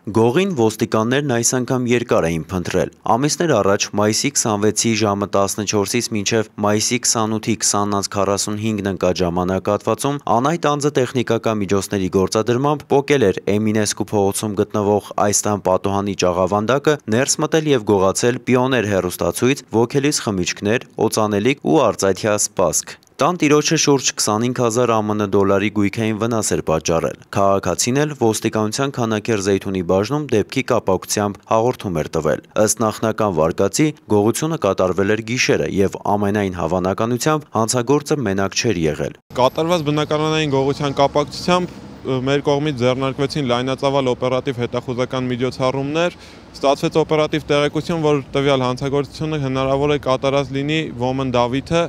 Գողին ոստիկաններն այս անգամ երկար էին փնտրել։ Ամիսներ առաջ մայիսի 26-ի ժամը 14-ից մինչև մայիսի 28-ի 20:45 ընկած ժամանակահատվածում անհայտ անձը տեխնիկական միջոցների գործադրմամբ պոկել էր Էմինեսկու փողոցում գտնվող այս տան պատուհանի ճաղավանդակը, ներս մտել և գողացել Պիոներ հեռուստացույց, ոգելից խմիչքներ, օծանելիք ու արծաթյա սպասք։ Տան տիրոջը շուրջ 25,000 ԱՄՆ դոլարի գույքային վնաս էր պատճառել։ Քաղաքացին էլ ոստիկանության Քանաքեռ Զեյթունի բաժնում դեպքի կապակցությամբ հաղորդում էր տվել։ Ըստ նախնական վարկածի, գողությունը կատարվել էր գիշերը և ամենայն հավանականությամբ հանցագործը մենակ չէր եղել։ Կատարված բնակարանային գողության կապակցությամբ մեր կողմից ձեռնարկվեցին լայնածավալ օպերատիվ հետախուզական միջոցառումներ, ստացվեց օպերատիվ տեղեկություն, որ տվյալ հանցագործությունը հնարավոր է կատարած լինի Ոմն Դավիթը։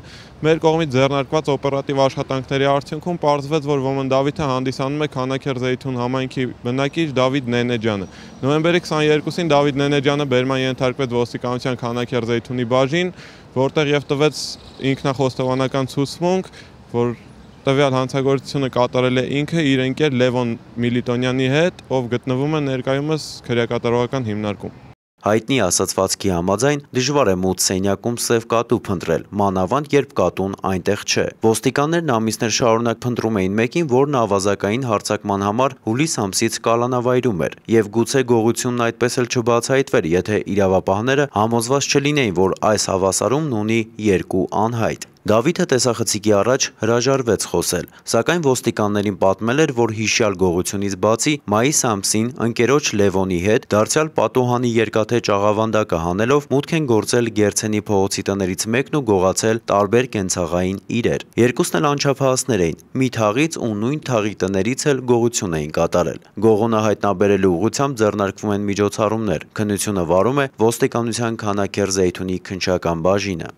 Մեր կողմից ձեռնարկված օպերատիվ աշխատանքների արդյունքում պարզվեց, որ Ոմն Դավիթը հանդիսանում է Քանաքեռ Զեյթուն համայնքի բնակիչ Դավիթ Նենեջյանը։ Նոյեմբերի 22-ին Դավիթ Նենեջյանը բերման ենթարկվեց ոստիկանության Քանաքեռ Զեյթունի բաժին, որտեղ և տվեց ինքնախոստովանական ցուցմունք, որ տվյալ հանցագործությունը կատարել է ինքը իր ընկեր Լևոն Միլիտոնյանի հետ, ով գտնվում է ներկայումս քրեակատարողական հիմնարկում։ Հայտնի ասացվածքի համաձայն դժվար է մութ սենյակում սև կատու փնտրել, մանավանդ երբ կատուն այնտեղ չէ։ Ոստիկաններն ամիսներ շարունակ փնտրում էին մեկին, որն ավազակային հարձակման համար հուլիս ամսից կալանավայրում էր, և գուցե գողությունն այդպես էլ չբացահայտվեր, եթե իրավապահները համոզված չլինեին, որ այս հավասարումն ունի երկու անհայտ։ Դավիթը տեսախցիկի առաջ հրաժարվեց խոսել, սակայն ոստիկաններին պատմել էր, որ հիշյալ գողությունից բացի մայիս ամսին ընկերոջ Լևոնի հետ դարձյալ պատուհանի երկաթե ճաղավանդակը հանելով մուտք են գործել Գերցենի փողոցի տներից մեկն ու գողացել տարբեր կենցաղային իրեր։ Երկուսն էլ անչափահասներ էին, մի թաղից ու նույն թաղի տներից էլ գողություն էին կատարել։ Գողունը հայտնաբերելու ուղղությամբ ձեռնարկվում են միջոցառումներ։ Քննությունը վարում է ոստիկանության Քանաքեռ Զեյթունի քննչական բաժինը։